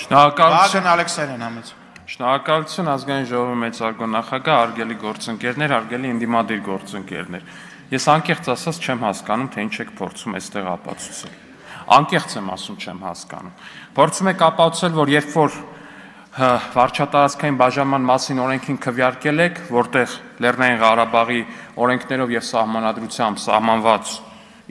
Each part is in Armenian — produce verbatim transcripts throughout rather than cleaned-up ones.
Շնորհակալություն Ալեքսանյան համեց։ Շնորհակալություն ազգային ժողովի մեծարգո նախագահ, արգելի գործընկերներ, արգելի ընդդիմադիր գործընկերներ։ Ես անկեղծ ասած չեմ հասկանում, թե ինչ եք փորձում այստեղ ապացուցել։ Անկեղծ եմ ասում, չեմ հասկանում։ Փորձում եք ապացուցել, որ երբ որ վարչատարածքային բաժանման մասին օրենքին քվեարկել եք, որտեղ Լեռնային Ղարաբաղի օրենքներով եւ սահմանադրությամբ սահմանված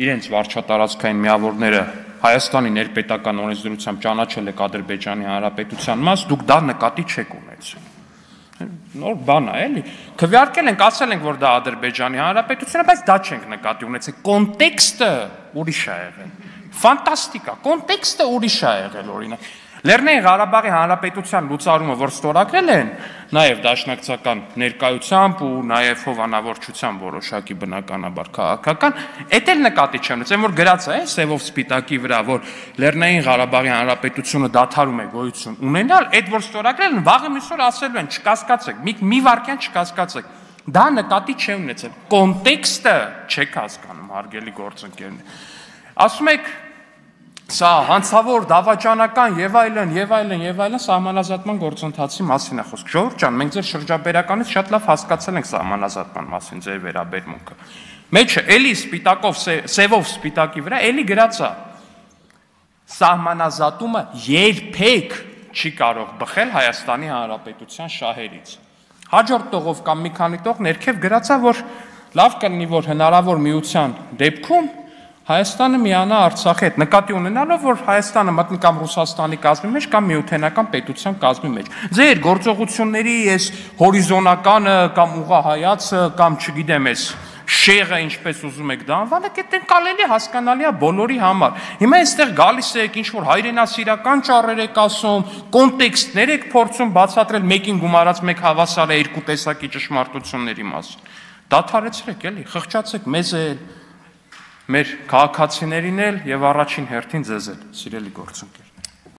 իրենց վարչատարածքային միավորները Հայաստանի ներպետական օրենսդրությամբ ճանաչել եք Ադրբեջանի Հանրապետության մաս, դուք դա նկատի չեք ունեցել։ Նոր բան է, էլի։ Քվեարկել ենք, ասել ենք, որ դա Ադրբեջանի Հանրապետությունն է, բայց դա չենք նկատի ունեցել։ Կոնտեքստը ուրիշ է եղել։ Ֆանտաստիկա, կոնտեքստը ուրիշ է եղել, օրինակ։ Լեռնային Ղարաբաղի Հանրապետության լուծարումը, որ ստորագրել են, նաև դաշնակցական ներկայությամբ ու նաև հովանավորչությամբ որոշակի բնականաբար քաղաքական, էդ էլ նկատի չեմ ունեցել, որ գրած է սևով սպիտակի վրա, որ Լեռնային Ղարաբաղի Հանրապետությունը դադարում է գոյություն ունենալ, այդ որ ստորագրել են, վաղը մյուս օր ասելու են, չկասկածեք, մի մի վայրկյան չկասկածեք։ Դա նկատի չեմ ունեցել։ Կոնտեքստը չեք հասկանում, հարգելի գործընկերներ։ Ասում եք Սա հանցավոր, դավաճանական եւ այլն, եւ այլն, եւ այլն սահմանազատման գործընթացի մասին է խոսք։ Ժողովուրդ ջան, մենք ձեր շրջաբերականից շատ լավ հասկացել ենք սահմանազատման մասին ձեր վերաբերմունքը։ Մեջը էլի սպիտակով, սևով սպիտակի վրա էլի գրած է. Սահմանազատումը երբեք չի կարող բխել Հայաստանի Հանրապետության շահերից։ Հաջորդ տողով կամ մի քանի տող ներքև գրած է, որ լավ կլինի, որ հնարավոր միության դեպքում Հայաստանը միանա Արցախի հետ, նկատի ունենալով, որ Հայաստանը մտնի կամ Ռուսաստանի կազմի մեջ, կամ միութենական պետության կազմի մեջ։ Ձեր գործողությունների այս հորիզոնականը կամ ուղղահայացը կամ չգիտեմ ես շեղը, ինչպես ուզում եք դա անվանեք, այդ ընկալելի հասկանալի է բոլորի համար։ Հիմա այստեղ գալիս եք, ինչ որ հայրենասիրական ճառեր եք ասում, կոնտեքստներ եք փորձում բացատրել, մեկին գումարած մեկ հավասար է երկու տեսակի ճշմարտությունների մասին։ Դադարեցրեք, էլի, խղճացեք մեզ էլ մեր քաղաքացիներին էլ եւ առաջին հերթին ձեզ էլ, սիրելի գործընկեր։